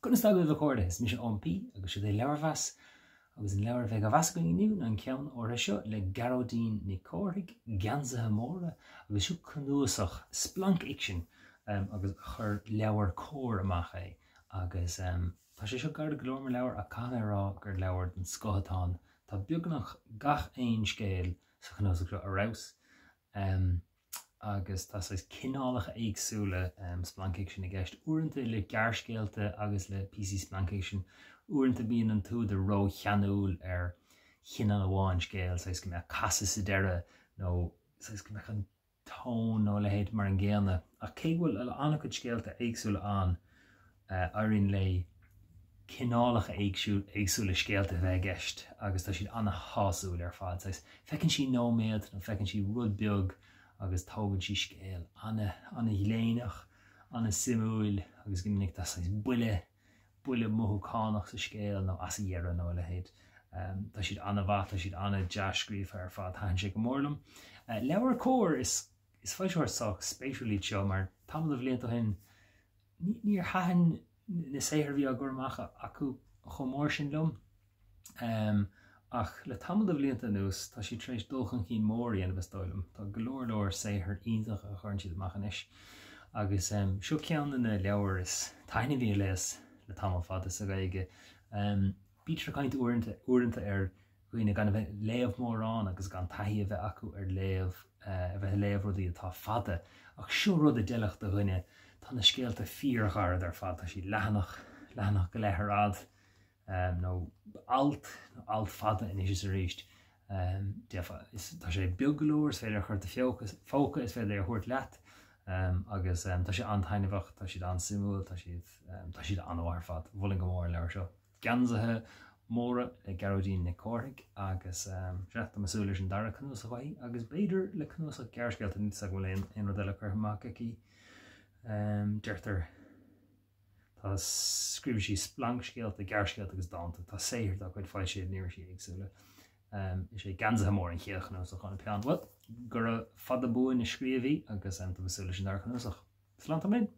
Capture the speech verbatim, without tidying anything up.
Conas tá agaibh a chairde, is mise Eoin P agus seo é Leabharmheas agus an leabhar a bheidh á mheas againn inniu ná an ceann áirithe seo le Gearóidín Nic Cárthaigh, Geansaithe Móra, agus seo cnuasach splancfhicsin agus chuir LeabhairCOMHAR amach é agus tá sé seo gairid go leor mar leabhar ach caithfidh mé a rá gur leabhar den scoth atá ann. Tá beagnach gach aon scéal sa chnuasach seo ar fheabhas. Agus tá saghas cineálacha éagsúla splancfhicsin i gceist, uaireanta le gearrscéalta agus le píosaí splancfhicsin, uaireanta bíonn an t-údar rócheanúil ar chineál amháin scéil, saghas go mbeadh casadh sa deireadh nó saghas go mbeadh an tón nó a leithéid mar an gcéanna. Ach cé go bhfuil an-chuid scéalta éagsúla ann, éiríonn léi cineálacha éagsúla scéalta a bheith i gceist agus tá siad an-shásúil ar fad. Saghas, feiceann sí nóiméad nó feiceann sí rud beag agus tógann sí scéal an-ghléineach, an-suimiúil agus go minic tá saghas buille, buille mothúchánach sa scéal nó as a dheireadh nó a leithéid. Tá siad an-mhaith, tá siad an-dea-scríofa ar fad, thaitin sé go mór liom. LeabhairCOMHAR, is is foilsitheoir sách spéisiúil iad seo mar tamall de bhlianta ó shin níor thaitin na saothair a bhí á gcur amach acu chomh mór sin liom. Ach le tamall de bhlianta anuas, tá siad tar éis dul chun cinn mór a dhéanamh, is dóigh liom. Tá go leor leor saothair iontach a chuireann siad amach anois. Agus seo ceann de na leabhair is taitneamhaí a léas le tamall fada sa Ghaeilge. Bítear ag caint uaireanta, uaireanta ar dhaoine gan a bheith ag léamh mórán agus gan taithí a bheith acu ar léamh, a bheith ag léamh rudaí atá fada. Ach seo rud a d'fheilfeadh do dhuine. Tá na scéalta fíorghairid ar fad, tá siad leathanach, leathanach go leith ar fhad, nó alt, nó alt fada anois is arís. Tá sé beag go leor, is féidir a chur i do phóca, is féidir é a thabhairt leat, agus tá sé an-taitneamhach, tá siad an-suimiúil, tá siad, tá siad an-mhaith ar fad. Mholfainn go mór an leabhar seo. Geansaithe Móra le Gearóidín Nic Cárthaigh agus sea, tá mé ag súil leis an dara cnuasach uaithi agus b'fhéidir le cnuasach gearrscéalta, níl 'fhios agam an bhfuil aon rud eile curtha amach aici. Deirtear, tá, scríobhann sí splancscéalta, gearrscéalta agus dánta. Tá saothar dá cuid foilsithe in irisí éagsúla. Is é Geansaithe Móra an chéad chnuasach óna peann. Bhuel, gura fada buan a scríobh í agus tá mé ag súil leis an dara cnuasach. Slán tamall.